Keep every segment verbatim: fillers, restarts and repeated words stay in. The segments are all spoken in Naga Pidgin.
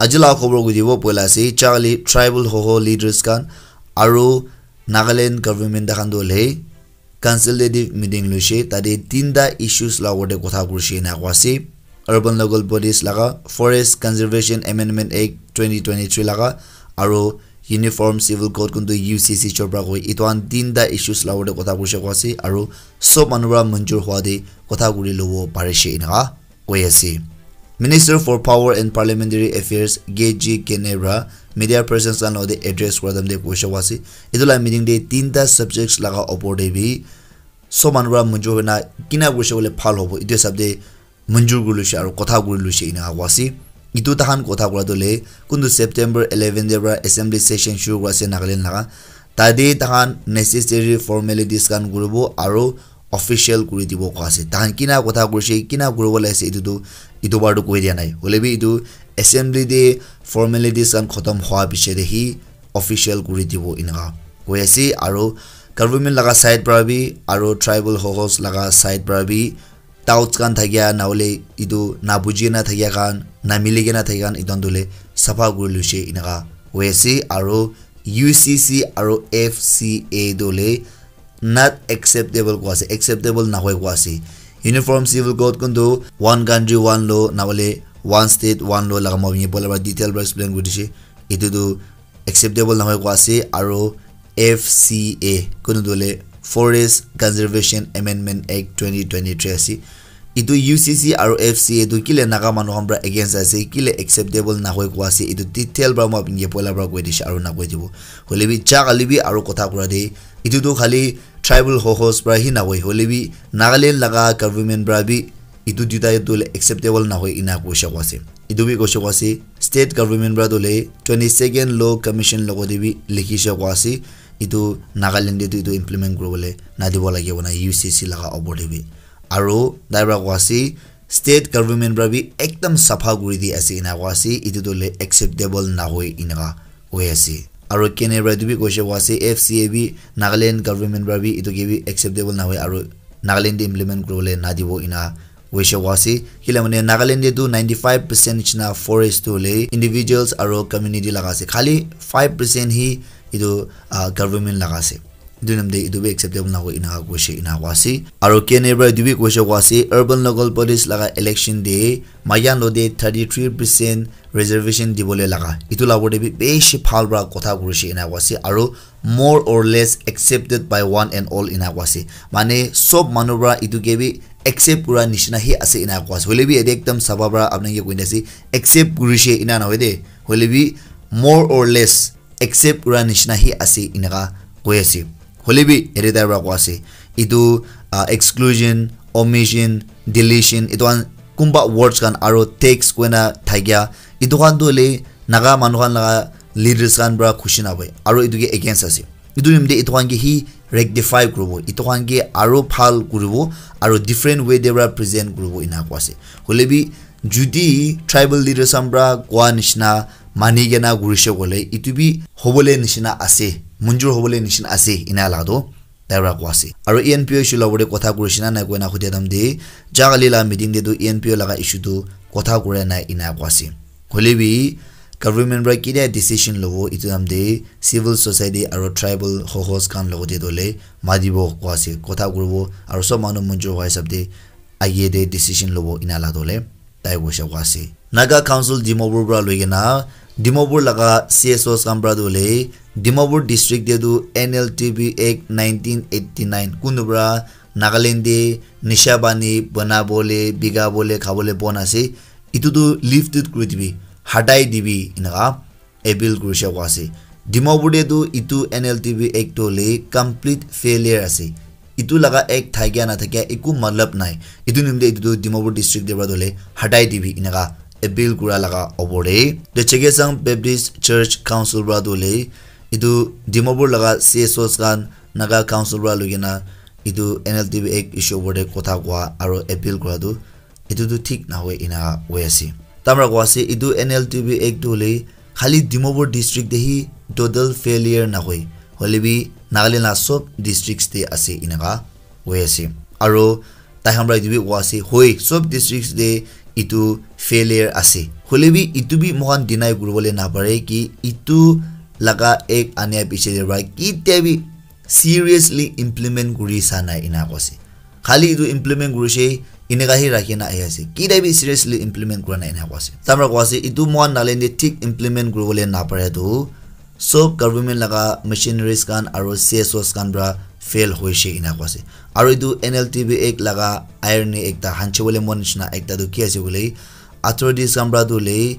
Aji la khobor kutibo poila ase, Charlie tribal Hoho leaders khan aru Nagaland government khan tu hoile consultative meeting loise, tate tinta issues la opor te kotha kurise ena koa ase. Urban Local Bodies laga, Forest Conservation Amendment Act twenty twenty-three laga, aru Uniform Civil Code kuntu U C C Chopra koi, itu khan tinta issues la opor te kotha kurise koa ase, aru sob manu para manjur hua te kotha kuri lobo parise enaka koi ase. Minister for Power and Parliamentary Affairs K G Kene para media persons khan logote address kura time te koise koa ase, itu la meeting te tinta subjects laga opor te bi sob manu para manjur hoina kina kurise koile bhal hobo, itu hisab te manjur kuri loise aru kotha kuri loise enaka koa ase. Itu tahan kotha kura tu hoile kuntu September eleven te para assembly session shuru kura ase Nagaland laga. Tate tahan necessary formalities khan kuribo aru official kuri dibo koa ase. Tahan kina kotha kurise, kina kuribo lage ase, itu tu itu bar tu koi dia nai. Hoile bi itu assembly te formalities khan khotom hua piche te hi official kuri dibo enaka koi ase. Aru government laga side para bi aru tribal Hohos laga side para bi doubts khan thakia, na hoile itu na buji na thakia khan, na mili kena thakia khan, itu khan tu hoile sapha kuri loise enaka koi ase. Aru U C C aru F C A tu hoile not acceptable koa ase, acceptable nahoi koa ase. Uniform Civil Code kuntu one country one law, na hoile one state one law laga moi poila para detail para explain kuri dise. Itu tu acceptable nahoi koa ase, aru F C A kuntu tu hoile Forest Conservation Amendment Act twenty twenty-three ase. Itu U C C aru F C A tu kile Naga manu khan para against ase, kile acceptable nahoi koa ase, itu detail para moi apni ke poila para koi dise aru na koi dibo. Hoile bi ja kali bi aru kotha kura de, itu tu khali tribal Hohos para hi nahoi, hoile bi Nagaland laga government para bi itu duita tu hoile acceptable nahoi ena koise koa ase. Itu bi koise koa ase, state government para tu hoile twenty-second Law Commission logote bi likhise koa ase, itu Nagaland te tu itu implement kuribole nadibo lage koina U C C laga opor te bi. Aru tai para koa ase, state government para bi ekdam sapha kuri di ase ena koa ase, itu tu hoile acceptable nahoi enaka koi ase. Aru Kene para itu bi koise koa ase, F C A bi Nagaland government para bi itu ke bi acceptable nahoi aru Nagaland te implement kuribole nadibo ena koise koa ase. Kile mane Nagaland te tu ninety-five percent nishina forest tu hoile individuals aru community laga ase. Khali five percent hi itu, ah, government laga ase. Itu namte itu bi acceptable nahoi enaka koise enaka koa ase. Aru Kene para itu bi koise koa ase, urban local bodies laga election te mayan logote thirty-three percent reservation dibole laga, itu la opor te bi bishi bhal para kotha kurise enaka koa ase. Aru more or less accepted by one and all enaka koa ase. Mane sob manu para itu ke bi accept kura nishina hi ase enaka koa ase. Hoile bi yate ekdam sapha para apni ke koi na ase, accept kurise ena nahoi de. Hoile bi more or less accept kura nishina hi ase enaka koi ase. Hoile bi yate tai para koa ase, itu, ah, exclusion, omission, deletion, itu khan kunba words khan aru text koina thakia, itu khan tu hoile Naga manu khan laga leaders khan para khushi nahoi aru itu ke against ase. Itu nimite itu khan ke hi rectify kuribo, itu khan ke aru bhal kuribo aru different way te para present kuribo enaka koa ase. Hoile bi judi tribal leaders khan para koa nishina mani kena kurise koile itu bi hobole nishina ase, manjur hobole nishina ase ena la tu tai para koa ase. Aru E N P O issue la opor te kotha kurise na nai koina hudia time te, ja kali la meeting te tu E N P O laga issue tu kotha kura nai ena koa ase. Hoile bi government para kitia decision lobo itu time te civil society aru tribal Hohos khan logote tu hoile matibo koa ase, kotha kuribo aru sob manu manjur hua hisab te age te decision lobo ena la tu hoile tai koise koa ase. Naga Council Dimapur para loi kena Dimapur laga C S Os khan para tu hoile Dimapur district te tu N L T B Act nineteen eighty-nine kunu para Nagaland te nisha pani banabole, bikabole, khabole bon ase, itu tu lifted kuri dibi, hatai dibi enaka appeal kurise koa ase. Dimapur te tu itu N L T B Act tu hoile complete failure ase. Itu laga act thakia na thakia eku matlab nai. Itu nimite itu tu Dimapur district te para tu hoile hatai dibi enaka appeal kura laga opor te. The Chakhesang Baptist Church Council para tu hoile itu Dimapur laga C S Os khan Naga Council para loi kena itu N L T B Act issue opor te kotha koa aru appeal kura tu itu tu thik nahoi ena hoi ase. Tai para koa ase itu N L T B Act tu hoile khali Dimapur district te hi total failure nahoi, hoile bi Nagaland la sob districts te ase enaka hoi ase. Aru tai khan para itu bi koa ase, hoi sob districts te etu failure ase. Hoile bi etu bi moikhan deny kuribole napare ki etu laga act ania piche te para kitia bi seriously implement kuri sa nai ena koise. Khali etu implement kurishe, eneka hi rakhi na ahi ase. Kitia bi seriously implement kura nai ena koise. Tamra koise, etu moikhan Nagaland te thik implement kuribole napare tu, sob government laga machineries khan aru C S Os khan para fail hoishe ena koise. Aru etu N L T B Act laga irony ekta hanchibole mon nishina ekta tu ki ase koile, authorities khan para tu le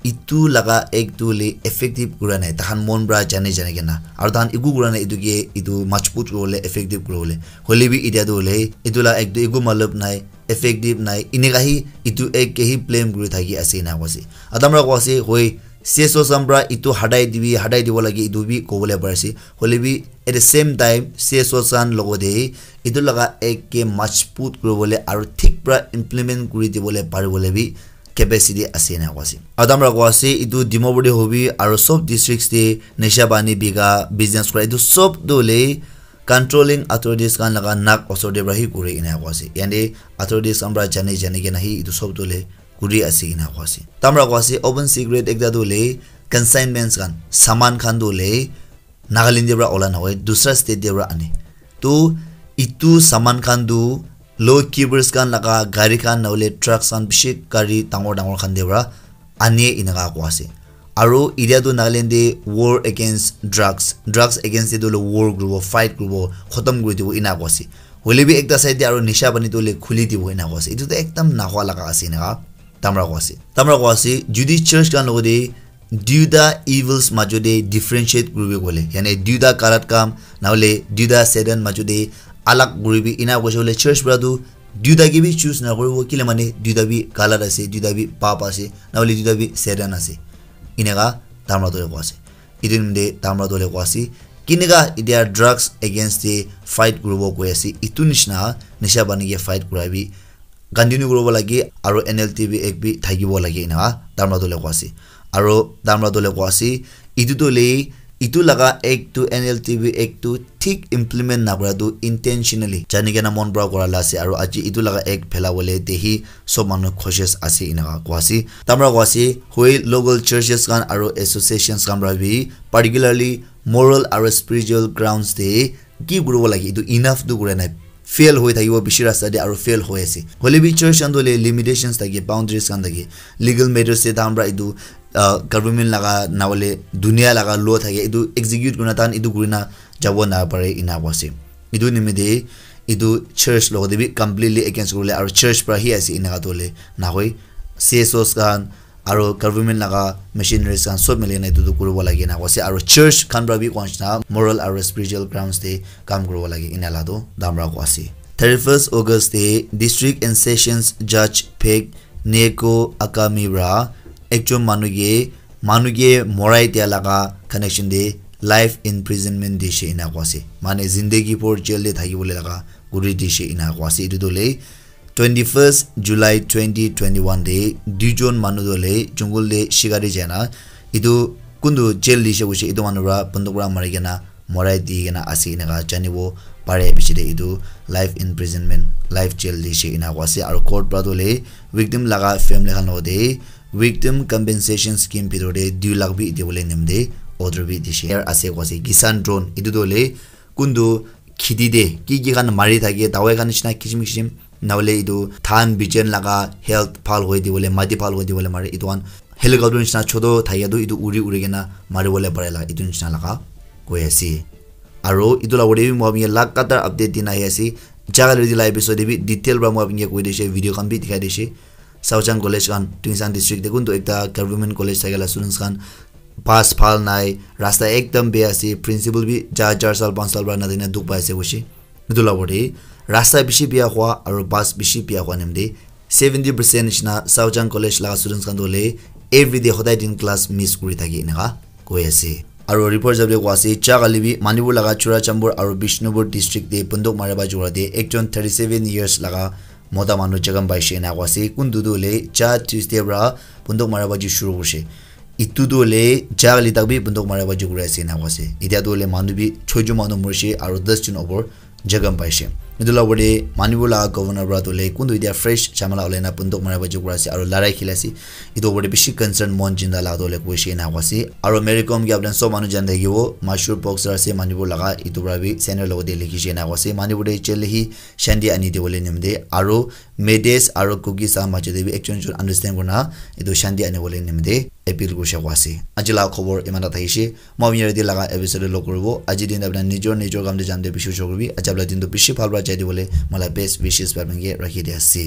etu laga act tu le effective kura nai, tahan mon para jani jani kena. Aru tahan eku kura nai etu ke etu majbut kuribole, effective kuribole. Hoile bi etia tu le etu la act tu eku matlab nai, effective nai. Eneka hi etu act ke hi blame kuri thaki ase ena koise. Atamra koise, hoi, C S Os khan para etu hatai dibi, hatai dibo lage etu bi kobole pari ase. Hoile bi at the same time C S Os khan logote etu laga act ke majbut kuribole aru thik para implement kuri dibole paribole bi capacity ase ena koise. Atamra koise, etu Dimapur te hobi aru sob districts te nisha pani bika business kura etu sob tu le controlling authorities khan laga nak osor te para hi kuri ena koise. Yate authorities khan para jani jani kena hi etu sob tu le kuri ase ena koise. Tamra koise, open secret ekta tu le consignments khan, saman khan tu le Nagaland te para ola nahoi, dusra state te para ane. Tu etu saman khan tu law keepers khan laga gari khan nahole trucks khan bishi gari dangor dangor khan te para ane eneka koa ase. Aru etia tu Nagaland te war against drugs, drugs against te tu war kuribo, fight kuribo, khotom kuri dibo ena koa ase. Hoile bi ekta side te aru nisha pani tu le khuli dibo ena koa ase. Etu tu ekdam nahua laga ase eneka. Tamra koa ase. Tamra koa ase, jodi church khan logote duita evils majote differentiate kuribi koile, yane duita galat kam, nahole duita Satan majote alag kuribi, ena koise koile church para tu duita ke bi choose na kuribo, kile mane duita bi galat ase, duita bi pap ase, nahole duita bi Satan ase. Eneka tamra tu koa ase. Etu nimite tamra tu koa ase. Kineka etia drugs against te fight kuribo koi ase, etu nishina nisha pani ke fight kurabi continue kuribo lage aru N L T B Act bi thakibo lage ena tamra tu le koa ase. Aru tamra tu le koa ase, etu tu le, etu laga act tu, N L T B Act tu thik implement nakura tu intentionally jani kena mon para kura la ase, aru aji etu laga act phela bole te hi sob manu cautious ase ena koa ase. Tamra koa ase, hoi local churches khan aru associations khan para bi particularly moral aru spiritual grounds te ki kuribo lage, etu enough tu kura nai. Fail hoi thakibo bishi rasta te aru fail hoi ase. Hoile bi church khan tu le limitations thake, boundaries khan thake. Legal matters te tahan para etu, ah, government laga nahole dunia laga law thake, etu execute kurina tahan etu kurina jabo napare ena koa ase. Etu nimite etu church logote bi completely against kuribole aru church para hi ase eneka tu le nahoi. C S Os khan aru government laga machineries khan sob mili kena etu tu kuribo lage ena koa ase. Aru church khan para bi koa nishina moral aru spiritual grounds te kam kuribo lage ena la tu tamra koa ase. Thirty-first August te District and Sessions Judge Phek Neko Akami para ekjon manu ke, manu ke morai dia laga connection te life imprisonment dishe ena koa ase. Mane zindagi bhor jail te thakibole laga kuri dishe ena koa ase. Etu tu le twenty-first July twenty twenty-one te duijon manu tu le jungle te shikari jaina, etu kuntu jail dishe koise, etu manu para banduk para mari kena morai di kena ase eneka janibo pare. Piche te etu life imprisonment, life jail dishe ena koa ase. Aru court para tu le victim laga family khan logote victim compensation scheme bhitor te dui lakh bi dibole nimite order bi dishe ase koa ase. Kisan drone, etu tu le kuntu kheti te ki ki khan mari thake, dawai khan nishina kisim kisim, nahole etu dhan bijan laga health bhal hoi dibole, mati bhal hoi dibole mare, etu khan helicopter nishina chotu thake tu etu uri uri kena maribole pare la, etu nishina laga koi ase. Aru etu la opor te bi moi khan ke lagatar update dina ahi ase. Jaga le etu la episode te bi detail para moi khan ke koi dishe, video khan bi dikhai dishe. Saochang College khan, Tuensang District te kuntu ekta government college thake la students khan bus bhal nai, rasta ekdam beya ase, principal bi ja char sal panch sal para nadina dukh pai ase koishe. Etu la opor te rasta bishi beya hua aru bus bishi beya hua nimite seventy percent nishina Saochang College laga students khan tu hoile everyday hodai din class miss kuri thake eneka koi ase. Aru report hisab te koa ase, ja kali bi Manipur laga Churachandpur aru Bishnupur district te banduk mara baji kura te ekjon thirty seven years laga mota manu jakham paishe ena koa ase. Kuntu tu hoile ja Tuesday para banduk mara baji shuru kurishe. Etu tu hoile ja kali tak bi banduk mara baji kuri ase ena koa ase. Etia tu hoile manu bi choi jon manu morishe aru das jon opor jakham paishe. Etu la opor te Manipur la governor para tu le kuntu etia fresh chamala ulai na bunduk mara ba jukura ase aru larai khili ase. Etu opor te bishi concern mon jinda la tu le kuishe na kwa ase. Aru Mary Kom ke apni sob manu jan thakibo, mashur boxer ase Manipur laga, etu para bi center logo te likhi she na kwa ase. Manipur te jail hi shanti ani de bole nimde aru Medes aru Kukis la majo te bi ekjon ekjon understand kurna etu shanti ani bole nimde appeal kurishe kwa ase. Aji la khobor iman ta thaishe. Moi apni yate laga episode log kuribo. Aji din apna nijor nijor kam te jam te bishi shukribi. Aji apna din tu bishi bhal para jai dibole mola best wishes para apni ke rakhi di ase.